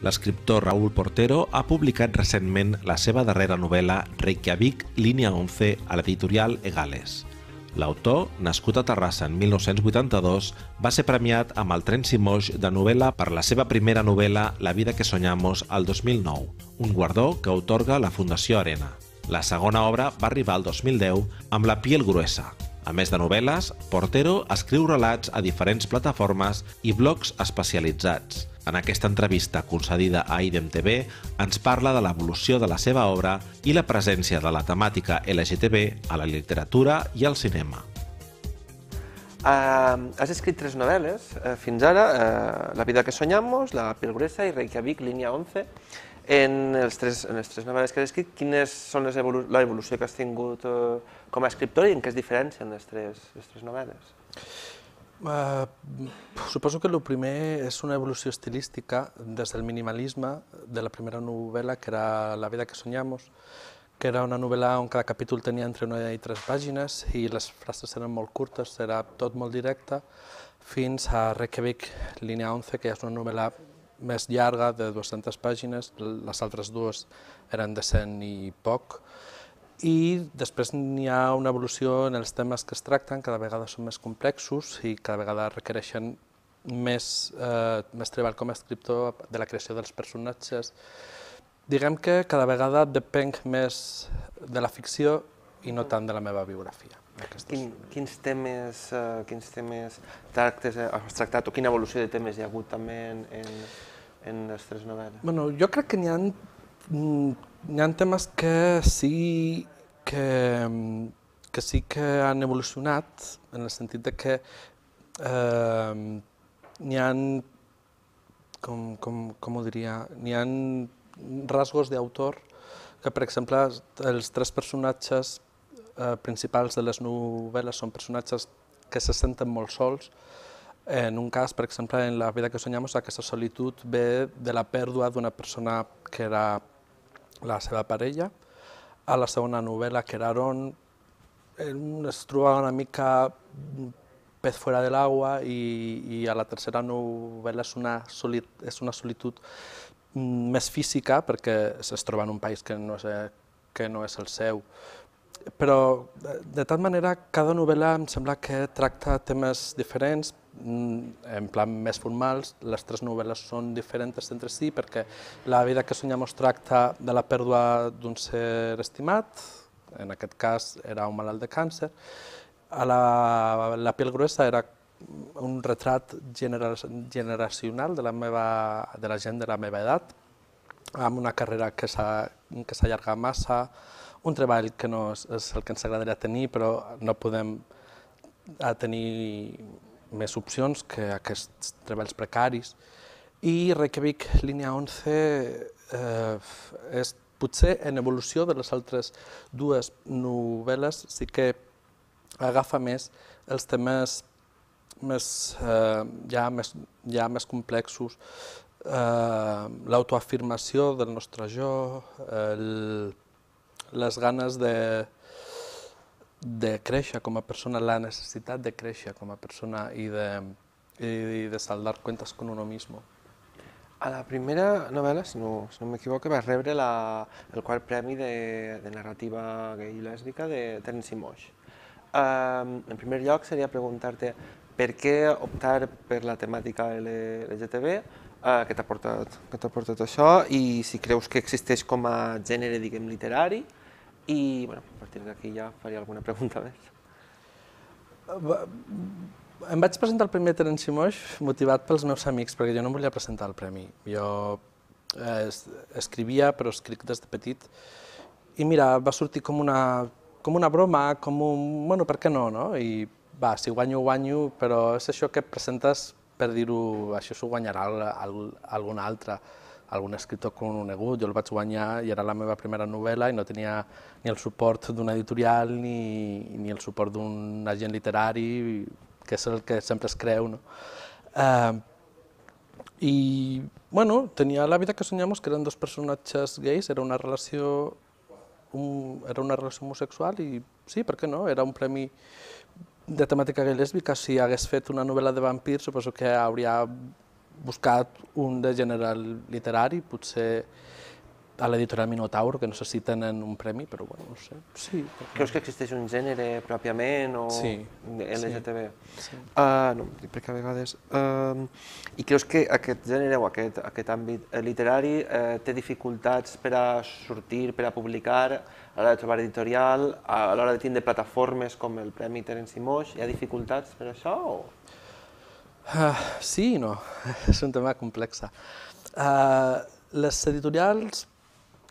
L'escriptor Raúl Portero ha publicat recentment la seva darrera novel·la Reykjavik, línia 11, a l'editorial Egales. L'autor, nascut a Terrassa en 1982, va ser premiat amb el Tren Simoix de novel·la per la seva primera novel·la La vida que soñamos al 2009, un guardó que atorga la Fundació Arena. La segona obra va arribar al 2010 amb La piel gruesa. A més de novel·les, Portero escriu relats a diferents plataformes i blogs especialitzats. En aquesta entrevista concedida a IDEM TV ens parla de l'evolució de la seva obra i la presència de la temàtica LGTB a la literatura i al cinema. Has escrit 3 novel·les fins ara, La vida que soñamos, La piel gruesa i Reykjavik, línia 11. En les tres novel·les que has escrit, quines són l'evolució que has tingut com a escriptor i en què es diferencien les tres novel·les? Suposo que el primer és una evolució estilística des del minimalisme de la primera novel·la, que era La vida que soñamos, que era una novel·la on cada capítol tenia entre 1 i 3 pàgines i les frases eren molt curtes, era tot molt directe, fins a Reykjavik, línia 11, que és una novel·la més llarga, de 200 pàgines, les altres dues eren de 100 i poc, i després n'hi ha una evolució en els temes que es tracten, cada vegada són més complexos i cada vegada requereixen més treball com a escriptor de la creació dels personatges. Diguem que cada vegada depenc més de la ficció i no tant de la meva biografia. Quins temes has tractat o quina evolució de temes hi ha hagut també en les 3 novel·les? Jo crec que n'hi ha temes que sí que han evolucionat, en el sentit que n'hi ha, com ho diria, n'hi ha rasgos d'autor que, per exemple, els 3 personatges principals de les novel·les són personatges que se senten molt sols. En un cas, per exemple, en La vida que soñamos, aquesta solitud ve de la pèrdua d'una persona que era la seva parella. A la segona novel·la, que era Aaron, es trobava una mica pez fuera del agua i a la tercera novel·la és una solitud més física perquè es troba en un país que no és el seu. Però, de tal manera, cada novel·la em sembla que tracta temes diferents, en plan més formals. Les 3 novel·les són diferents entre si perquè La vida que soñamos tracta de la pèrdua d'un ser estimat, en aquest cas era un malalt de càncer. La piel gruesa era un retrat generacional de la gent de la meva edat, amb una carrera que s'allarga massa, un treball que no és el que ens agradaria tenir, però no podem tenir més opcions que aquests treballs precaris. I Reykjavik, línia 11, és potser en evolució de les altres 2 novel·les, sí que agafa més els temes ja més complexos, l'autoafirmació del nostre jo, les ganes de créixer com a persona, la necessitat de créixer com a persona i de saldar cuentas con uno mismo. A la primera novel·la, si no m'equivoco, vas rebre el 4º premi de narrativa gay i lèsbica de Tren Simoix. En primer lloc, seria preguntar-te per què optar per la temàtica LGTB, què t'ha portat això i si creus que existeix com a gènere, diguem, literari, i a partir d'aquí ja faria alguna pregunta més. Em vaig presentar el Premi de Tren Simoix motivat pels meus amics, perquè jo no em volia presentar el premi. Jo escrivia, però escric des de petit, i mira, va sortir com una broma, com un, bueno, per què no, no? I va, si guanyo, guanyo, però és això que presentes per dir-ho, això s'ho guanyarà algun altre, algun escriptor conegut. Jo el vaig guanyar i era la meva primera novel·la i no tenia ni el suport d'una editorial ni el suport d'un agent literari, que és el que sempre es creu, no? I, bueno, tenia La vida que soñamos, que eren 2 personatges gais, era una relació homosexual i sí, per què no? Era un premi de temàtica gay lèsbica. Si hagués fet una novel·la de vampirs, suposo que hauria buscat un de gènere literari, potser a l'editorial Minotaur, que no sé si tenen un premi, però bueno, no sé. Sí. Creus que existeix un gènere pròpiament o Sí. LGTB? Sí. No, perquè a vegades... I creus que aquest gènere o aquest àmbit literari té dificultats per a sortir, per a publicar, a l'hora de trobar editorial, a l'hora de tindre plataformes com el Premi Terence Moix? Hi ha dificultats per això o...? Sí i no, és un tema complex. Les editorials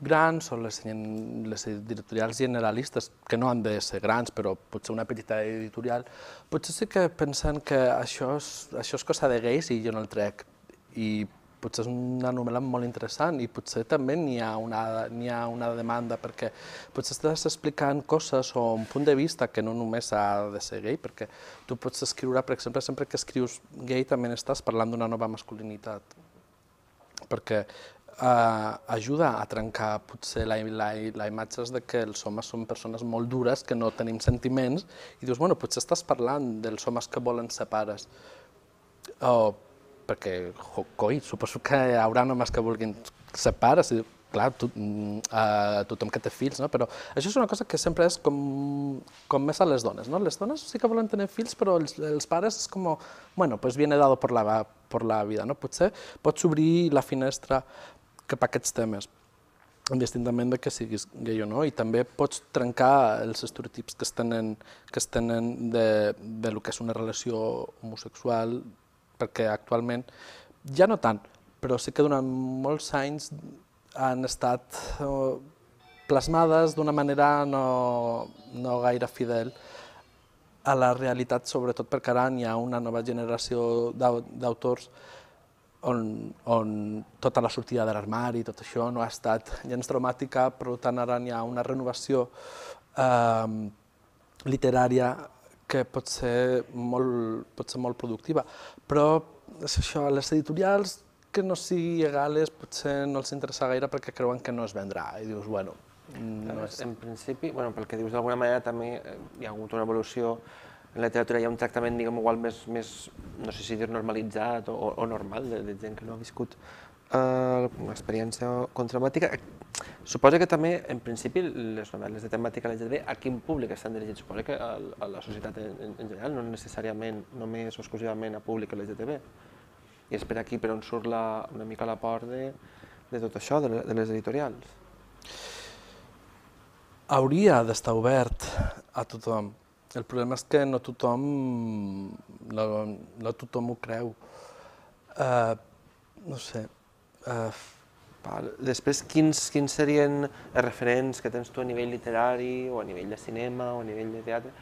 grans o les editorials generalistes, que no han de ser grans, però potser una petita editorial, potser sí que pensen que això és cosa de gais i jo no el trec. I potser és una novel·la molt interessant i potser també n'hi ha una demanda, perquè potser estàs explicant coses o un punt de vista que no només ha de ser gay, perquè tu pots escriure, per exemple, sempre que escrius gay també estàs parlant d'una nova masculinitat, perquè ajuda a trencar potser la imatge de que els homes són persones molt dures, que no tenim sentiments, i dius, bueno, potser estàs parlant dels homes que volen ser pares. Perquè, coi, suposo que hi haurà homes que vulguin ser pares, i clar, tothom que té fills, no? Però això és una cosa que sempre és com més a les dones, no? Les dones sí que volen tenir fills, però els pares és com, bueno, pues viene dado por la vida, no? Potser pots obrir la finestra cap a aquests temes, indistintament de que siguis gay o no, i també pots trencar els estereotips que es tenen de lo que és una relació homosexual, perquè actualment, ja no tant, però sí que durant molts anys han estat plasmades d'una manera no gaire fidel a la realitat, sobretot perquè ara hi ha una nova generació d'autors on tota la sortida de l'armari i tot això no ha estat gens traumàtica, per tant ara hi ha una renovació literària que pot ser molt productiva. Però és això, les editorials que no sigui legales potser no els interessa gaire perquè creuen que no es vendrà. I dius, bueno... En principi, pel que dius d'alguna manera, també hi ha hagut una evolució. En la literatura hi ha un tractament, diguem, igual més, no sé si dir normalitzat o normal, de gent que no ha viscut una experiència traumàtica. Suposo que també, en principi, les novel·les de temàtica LGTB, a quin públic estan dirigits? Suposo que a la societat en general, no necessàriament només o exclusivament a públic LGTB. I és per aquí per on surt una mica l'aport de tot això, de les editorials. Hauria d'estar obert a tothom. El problema és que no tothom ho creu. No sé. Després, quins serien els referents que tens tu a nivell literari o a nivell de cinema o a nivell de teatre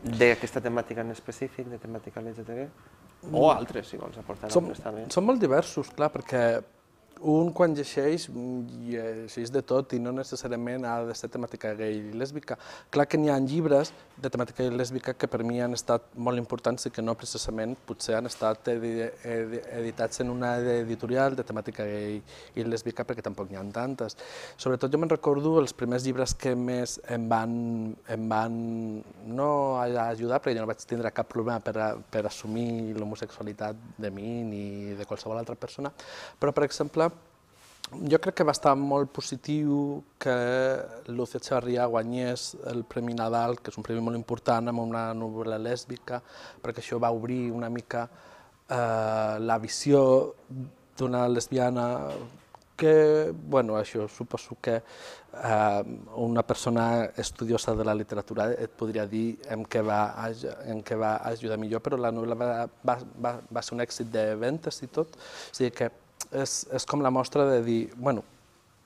d'aquesta temàtica en específic, de temàtica LGTB? O altres, si vols aportar altres també. Són molt diversos, clar, perquè un quan llegeix de tot i no necessàriament ha de ser temàtica gay i lèsbica. Clar que n'hi ha llibres de temàtica gay i lèsbica que per mi han estat molt importants i que no precisament potser han estat editats en una editorial de temàtica gay i lèsbica perquè tampoc n'hi ha tantes. Sobretot jo me'n recordo els primers llibres que més em van no ajudar, perquè jo no vaig tindre cap problema per assumir l'homosexualitat de mi ni de qualsevol altra persona, però per exemple jo crec que va estar molt positiu que Lucia Echevarría guanyés el Premi Nadal, que és un premi molt important, amb una novel·la lèsbica, perquè això va obrir una mica la visió d'una lesbiana que, bueno, això suposo que una persona estudiosa de la literatura et podria dir en què va ajudar millor, però la novel·la va ser un èxit de ventes i tot, o sigui que és com la mostra de dir, bueno,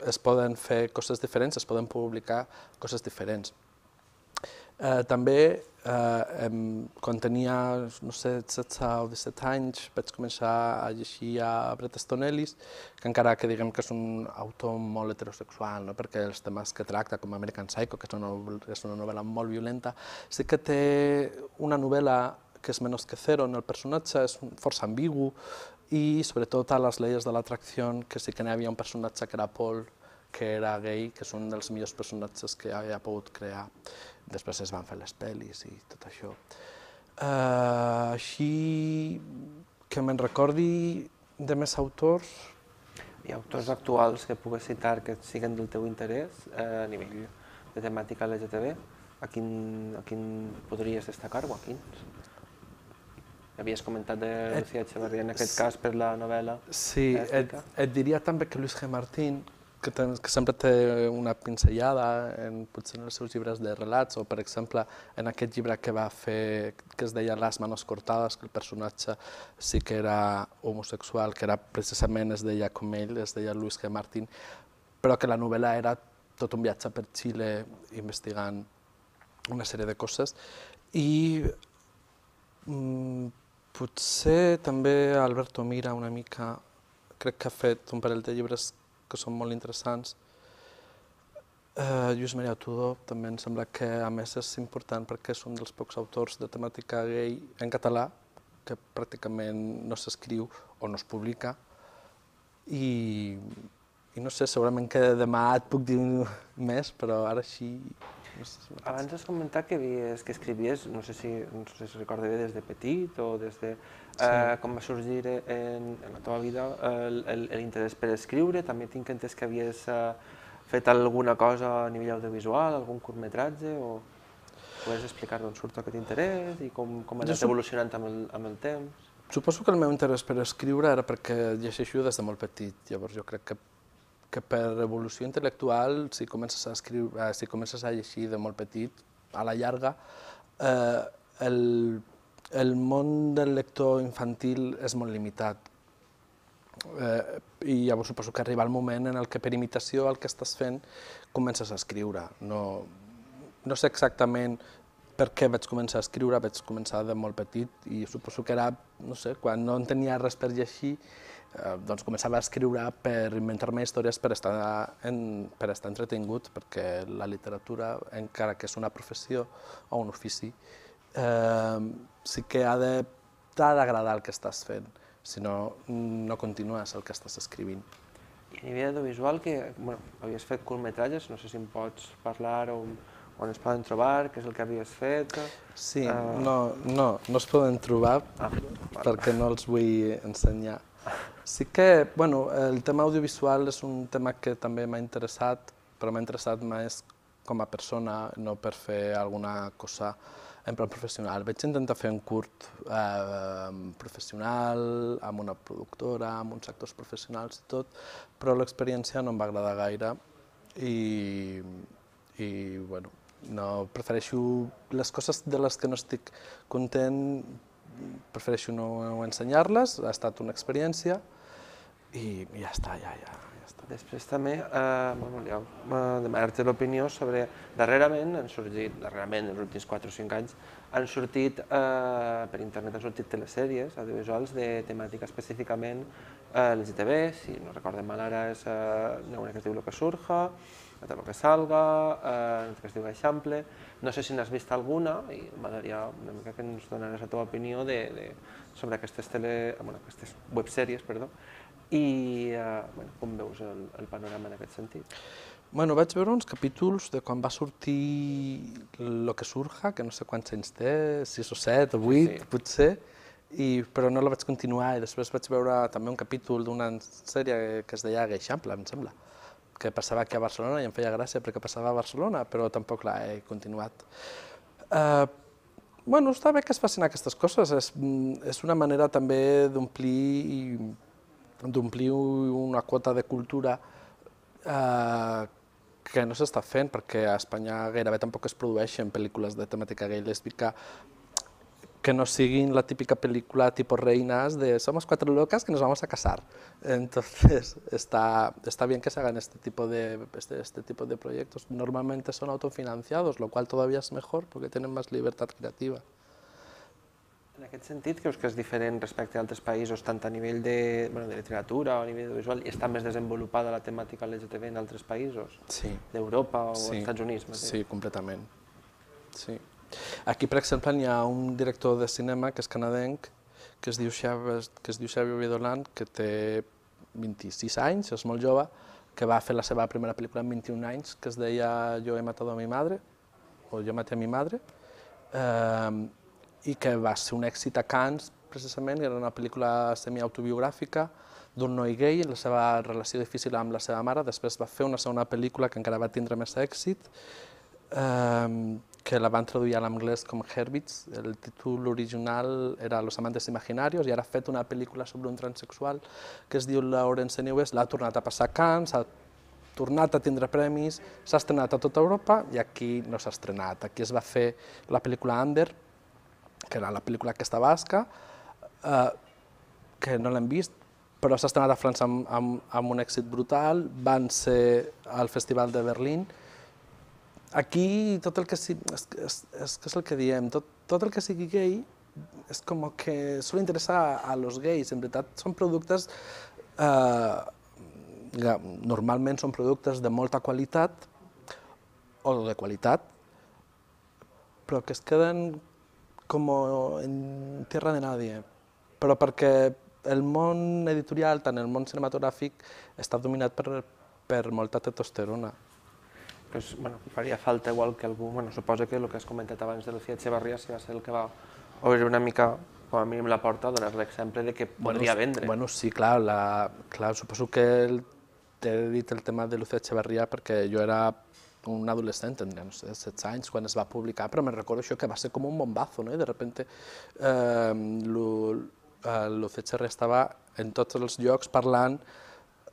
es poden fer coses diferents, es poden publicar coses diferents. També, quan tenia, no sé, 16 o 17 anys, vaig començar a llegir a Bret Easton Ellis, que encara que diguem que és un autor molt heterosexual, perquè els temes que tracta, com American Psycho, que és una novel·la molt violenta, sí que té una novel·la que és Menos que Cero, on el personatge és força ambigu, i sobretot a Les leyes de l'atracció, que sí que n'hi havia un personatge que era Paul, que era gay, que és un dels millors personatges que havia pogut crear. Després es van fer les pel·lis i tot això. Així que me'n recordi, De més autors? Hi ha autors actuals que pugues citar que siguin del teu interès a nivell de temàtica LGTB? A quin podries destacar o a quins? Havies comentat de Lucía Echeverría en aquest cas per la novel·la. Sí, et diria també que Luis G. Martín, que sempre té una pinzellada potser en els seus llibres de relats, o per exemple en aquest llibre que va fer, que es deia Las manos cortadas, que el personatge sí que era homosexual, que era precisament, es deia com ell, es deia Luis G. Martín, però que la novel·la era tot un viatge per Xile investigant una sèrie de coses. I potser també Alberto Mira una mica, crec que ha fet un parell de llibres que són molt interessants. Lluís Maria Tudó també em sembla que a més és important perquè és un dels pocs autors de temàtica gay en català que pràcticament no s'escriu o no es publica. I no sé, segurament que demà et puc dir més, però ara així... Abans has comentat que escrivies, no sé si recorda bé, des de petit o des de... Com va sorgir en la teva vida l'interès per escriure? També tinc entès que havies fet alguna cosa a nivell audiovisual, algun curtmetratge, o podries explicar d'on surt aquest interès i com ha anat evolucionant amb el temps? Suposo que el meu interès per escriure era perquè llegeixo des de molt petit, llavors jo crec que per evolució intel·lectual, si comences a escriure, si comences a llegir de molt petit, a la llarga, el món del lector infantil és molt limitat. I llavors suposo que arriba el moment en què per imitació el que estàs fent comences a escriure. No sé exactament per què vaig començar a escriure, vaig començar de molt petit i suposo que era, no sé, quan no en tenia res per llegir, doncs començava a escriure per inventar-me històries per estar entretingut, perquè la literatura, encara que és una professió o un ofici, sí que t'ha d'agradar el que estàs fent, si no, no continues el que estàs escrivint. I a nivell audiovisual, havies fet curtmetratges, no sé si em pots parlar on es poden trobar, què és el que havies fet? Sí, no es poden trobar perquè no els vull ensenyar. Sí que, el tema audiovisual és un tema que també m'ha interessat, però m'ha interessat més com a persona, no per fer alguna cosa en plan professional. Vaig intentar fer un curt professional, amb una productora, amb uns actors professionals i tot, però l'experiència no em va agradar gaire i prefereixo les coses de les que no estic content, prefereixo no ensenyar-les, ha estat una experiència i ja està, ja està. Després també demanar-te l'opinió sobre, darrerament, els últims 4 o 5 anys, han sortit, per internet han sortit telesèries audiovisuals de temàtica específicament LGTB, si no recordem mal ara és una que es diu Lo que surja, l'altra Lo que salga, una que es diu Eixample. No sé si n'has vist alguna i m'agradaria una mica que ens donares la teva opinió sobre aquestes websèries, i com veus el panorama en aquest sentit. Vaig veure uns capítols de quan va sortir Lo que surja, que no sé quants anys té, 6 o 7 o 8 potser, però no la vaig continuar i després vaig veure també un capítol d'una sèrie que es deia Eixample, em sembla, que passava aquí a Barcelona i em feia gràcia perquè passava a Barcelona, però tampoc l'he continuat. Està bé que es facin aquestes coses, és una manera també d'omplir una quota de cultura que no s'està fent, perquè a Espanya gairebé tampoc es produeixen pel·lícules de temàtica gay lèsbica que no siguin la típica pel·lícula tipo Reinas de somos 4 locas que nos vamos a casar. Entonces, está bien que se hagan este tipo de proyectos. Normalmente son autofinanciados, lo cual todavía es mejor porque tienen más libertad creativa. En aquest sentit, creus que és diferent respecte a altres països, tant a nivell de literatura o a nivell audiovisual, i està més desenvolupada la temàtica LGTB en altres països? Sí. D'Europa o dels Estats Units? Sí, completament. Sí. Aquí, per exemple, hi ha un director de cinema que és canadenc, que es diu Xavier Vidoland, que té 26 anys, és molt jove, que va fer la seva primera pel·lícula amb 21 anys, que es deia Yo he matado a mi madre, o Yo maté a mi madre, i que va ser un èxit a Cannes, precisament, era una pel·lícula semiautobiogràfica d'un noi gai, la seva relació difícil amb la seva mare. Després va fer una segona pel·lícula que encara va tindre més èxit, que la van traduir a l'anglès com Herbits. El títol original era Los amantes imaginarios, i ara ha fet una pel·lícula sobre un transsexual que es diu Laurence Newes. L'ha tornat a passar a Cannes, ha tornat a tindre premis, s'ha estrenat a tota Europa i aquí no s'ha estrenat. Aquí es va fer la pel·lícula Ander, que era la pel·lícula aquesta basca, que no l'hem vist, però s'ha estrenat a França amb un èxit brutal, van ser al Festival de Berlín. Aquí tot el que sigui, és el que diem, tot el que sigui gay és com que sol interessar a los gays. En veritat són productes, normalment són productes de molta qualitat o de qualitat, però que es queden com en tierra de nadie, però perquè el món editorial, tant el món cinematogràfic, està dominat per molta testosterona. Pues, bueno, faria falta igual que algú, bueno, suposo que el que has comentat abans de Lucía Echevarría va ser el que va obrir una mica, com a mínim la porta, a donar l'exemple de que podria vendre. Bueno, sí, clar, suposo que t'he dit el tema de Lucía Echevarría perquè jo era un adolescent, tindria, no sé, 16 anys, quan es va publicar, però me'n recordo això que va ser com un bombazo, no? I de repente Lucía Echevarría estava en tots els llocs parlant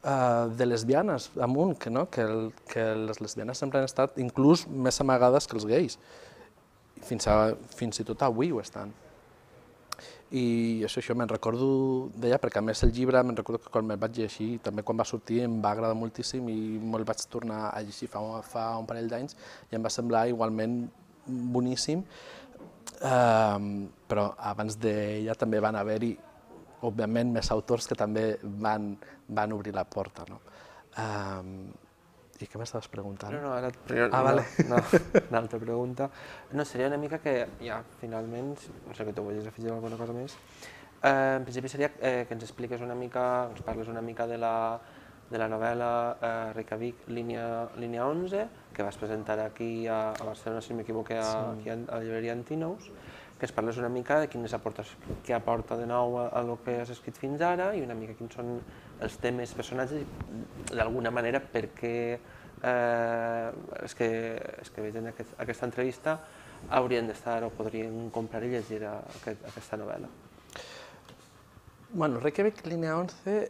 de lesbianes amunt, que les lesbianes sempre han estat inclús més amagades que els gais. Fins i tot avui ho estan. I això me'n recordo d'ella, perquè a més el llibre me'n recordo que quan me'l vaig llegir, també quan va sortir em va agradar moltíssim i me'l vaig tornar a llegir fa un parell d'anys i em va semblar igualment boníssim, però abans d'ella també van haver-hi, òbviament, més autors que també van obrir la porta. I què m'estaves preguntant? No, ara vale. una altra pregunta. No, seria una mica que ja, finalment, no sé que tu volies afegir alguna cosa més, en principi seria que ens expliques una mica, ens parles una mica de la novel·la Reykjavik, línia 11, que vas presentar aquí a Barcelona, si no m'equivoco, aquí a la llibreria Antinous, que ens parles una mica de què aporta de nou a el que has escrit fins ara i una mica quins són els temes, personatges, i d'alguna manera per què els que vegin aquesta entrevista haurien d'estar o podrien comprar i llegir aquesta novel·la. Bueno, Reykjavik, línia 11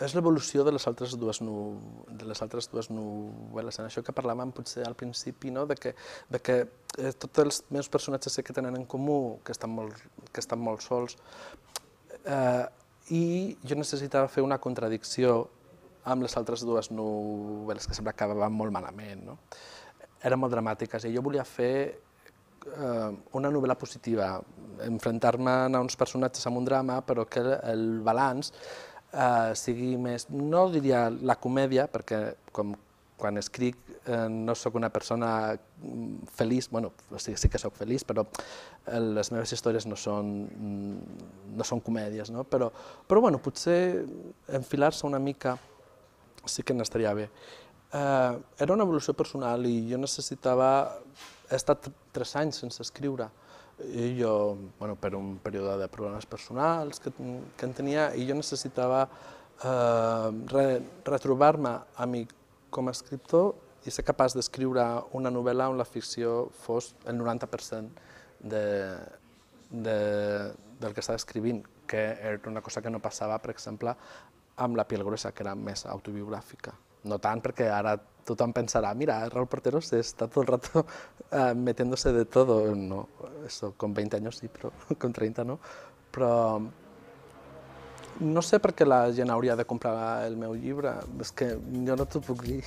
és l'evolució de les altres dues novel·les. En això que parlàvem potser al principi, de que tots els meus personatges que tenen en comú, que estan molt sols, i jo necessitava fer una contradicció amb les altres dues novel·les que sempre acabaven molt malament. Eren molt dramàtiques i jo volia fer una novel·la positiva, enfrontar-me a uns personatges amb un drama, però que el balanç sigui més, no diria la comèdia, perquè quan escric no sóc una persona feliç, bueno, sí que sóc feliç, però les meves històries no són comèdies, però potser enfilar-se una mica sí que n'estaria bé. Era una evolució personal i jo necessitava, he estat 3 anys sense escriure, i jo, per un període de problemes personals que en tenia, i jo necessitava retrobar-me a mi com a escriptor i ser capaç d'escriure una novel·la on la ficció fos el 90% del que estava escrivint, que era una cosa que no passava, per exemple, amb La piel gruesa, que era més autobiogràfica. No tant perquè ara tothom pensarà, mira, Raúl Porteros está todo el rato metiéndose de todo. No, eso con 20 años sí, però con 30 no. Però no sé per què la gent hauria de comprar el meu llibre, és que jo no t'ho puc dir.